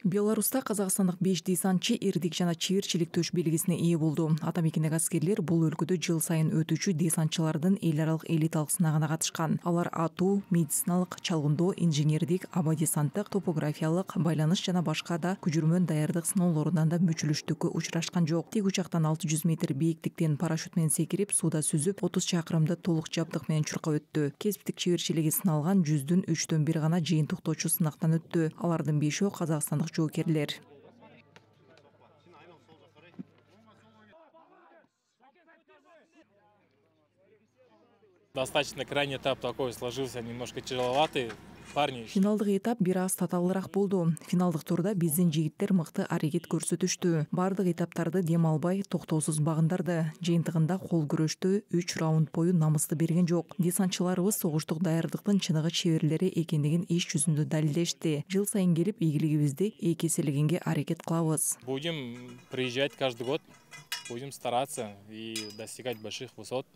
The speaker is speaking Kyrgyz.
Беларуста казакстандык 5 десантчы эрдик жана чеберчилик төш белгисине ээ болду. Атамекендеги аскерлер бул өлкөдө жыл сайын өтүүчү десантчылардын эл аралык элиталык сынагына катышкан. Алар атуу, медициналык, чалгындоо, инженердик, аба десанттык, топографиялык, байланыш жана башка да күжүрмөн даярдык сыноолорунан да мүчүлүштүккө учурашкан жок. Тик учактан 600 метр бийиктиктен парашют менен секирип, сууда сүзүп, 30 чакырымды толук жабдык менен чуркап өттү. Кесиптик чеберчилиги сыналган 100дүн 3/1 гана жыйынтыктоочу сынактан өттү. Алардын 5өө казакстандык жоокерлер. Достаточно крайний этап такой сложился, немножко тяжеловатый. Парни. Финалдык этап бир аз татаалыраак болду. Финалдык турда биздин жигиттер мыкты аракет көрсөтүштү. Бардык этаптарды дем албай, токтоосуз багындырды. Жыйынтыгында кол күрөштө 3 раунд бою намысты берген жок. Десантчыларыбыз согуштук даярдыктын чыныгы чеберлери экендигин иш жүзүндө далилдешти. Жыл сайын келип, ийгилигибизди эки эселегенге аракет кылабыз. Будем приезжать каждый год, будем стараться и достигать больших высот.